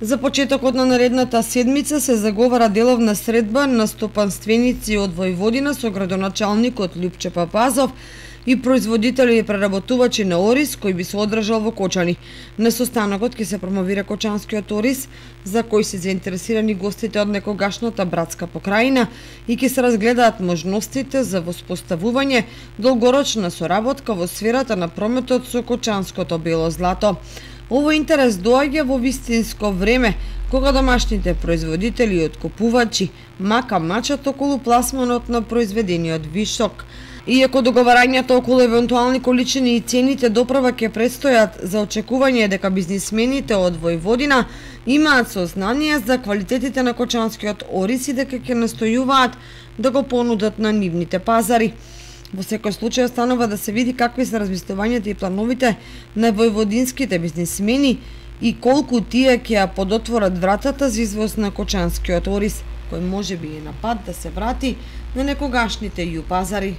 За почетокот на наредната седмица се заговара деловна средба на стопанственици од Војводина со градоначалникот Љупче Папазов и производители и преработувачи на ориз кој би се одржал во Кочани. На состанокот ќе се промовира кочанскиот ориз, за кој се заинтересирани гостите од некогашната братска покрајина и ќе се разгледаат можностите за воспоставување долгорочна соработка во сферата на прометот со кочанското бело злато. Овој интерес доаѓа во вистинско време, кога домашните производители и откупувачи мака мачат околу пласманот на произведениот вишок. Иако договарањата околу евентуални количини и цените доправа ќе предстојат, за очекување дека бизнисмените од Војводина имаат сознание за квалитетите на кочанскиот ориз и дека ќе настојуваат да го понудат на нивните пазари. Во секој случај останува да се види какви се размислувањата и плановите на војводинските бизнисмени и колку тие ќе ја подотворат вратата за извоз на кочанскиот ориз, кој може би е на пат да се врати на некогашните ју пазари.